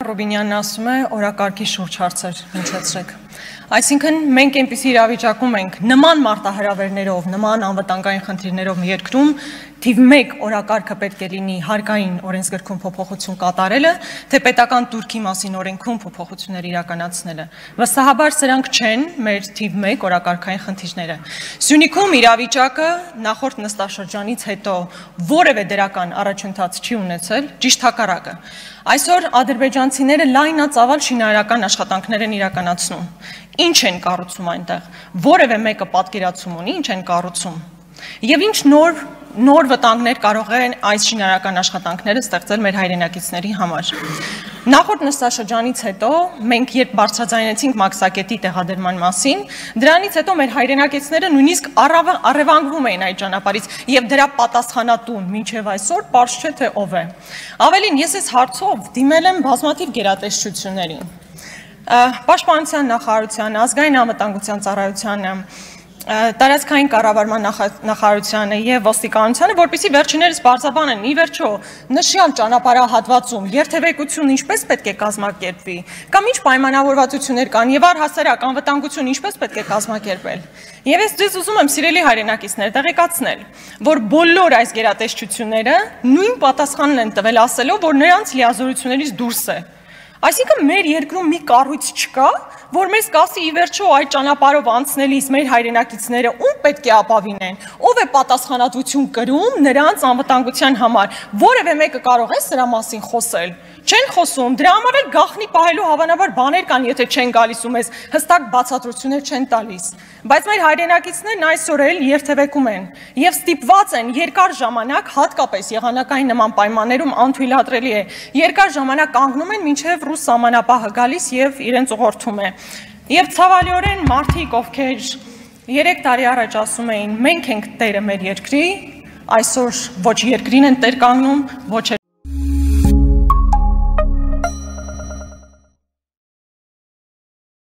Ռուբինյանն ասում է օրակարգի շուրջ հարցեր հնչեցրեք։ Այսինքն մենք այնպիսի իրավիճակում ենք նման մարտահրավերներով, նման անվտանգային խնդիրներով երկրում թիվ 1 օրակարգը պետք է լինի հարկային օրենսգրքում փոփոխություն կատարելը, թե պետական турքի մասին օրենքում փոփոխություններ իրականացնելը։ Վստահաբար սրանք չեն մեր թիվ 1 օրակարգային խնդիրները։ Սյունիքում իրավիճակը նախորդ նստաշրջանից հետո որևէ դրական առաջընթաց չի ունեցել, ճիշտ հակառակը։ Այսօր ադրբեջանցիները լայնածավալ շինարարական աշխատանքներ են իրականացնում։ Ինչ են կառուցում այնտեղ։ Որևէ մեկը պատկերացում ունի, ինչ են կառուցում։ Եվ ինչ նոր վտանգներ կարող են այս շինարարական աշխատանքները ստեղծել մեր հայրենակիցների համար։ Նախորդ նստաշրջանից հետո մենք երբ բարձրաձայնեցինք Մաքսակետի տեղադրման մասին, դրանից հետո մեր հայրենակիցները նույնիսկ առևանգվում էին այդ ճանապարհից եւ դրա պատասխանատուն մինչեւ այսօր պարզ չէ թե ով է։ Ավելին, ես այս հարցով դիմել եմ բազմաթիվ գերատեսչություններին։ Պաշտպանության նախարարությանը, ազգային անվտանգության ծառայությանը, տարածքային կառավարման նախարարությանը եւ ոստիկանությանը, որպեսզի վերջիններս բարձրաբանեն ի վերջո նշյալ ճանապարհահատվածում երթևեկություն ինչպես պետք է կազմակերպվի, կամ ինչ պայմանավորվածություններ կան եւ առհասարակ անվտանգություն ինչպես պետք է կազմակերպել։ Եվ ես ձեզ ուզում եմ սիրելի հայրենակիցներ տեղեկացնել, որ բոլոր այս գերատեսչությունները նույն պատասխանն են տվել ասելով, որ նրանց լիազորություններից դուրս է։ Այսինքն մեր երկրում մի կառույց չկա, որ մեզ կասի ի վերջո այդ ճանապարհով անցնելիս մեր հայրենակիցները ում պետք է ապավինեն, ով է պատասխանատվություն կրում նրանց անվտանգության համար։ Որևէ մեկը կարող է սրա մասին խոսել։ Չեն խոսում, դրա համար էլ գաղտնի պահելու հավանաբար բաներ կան, եթե չեն գալիս ու մեզ հստակ բացատրություններ չեն տալիս։ Բայց մեր հայրենակիցներն այսօր էլ երթևեկում են եւ ստիպված են երկար ժամանակ, հատկապես եղանակային նման պայմաններում անթույլատրելի է, երկար ժամանակ կանգնում են մինչեւ ռուս սահմանապահը գալիս եւ իրենց ուղղորդում է։ Եվ ցավալիորեն մարդիկ, ովքեր 3 տարի առաջ ասում էին մենք ենք տերը մեր երկրի, այսօր ոչ երկրին են տեր կանգնում, ոչ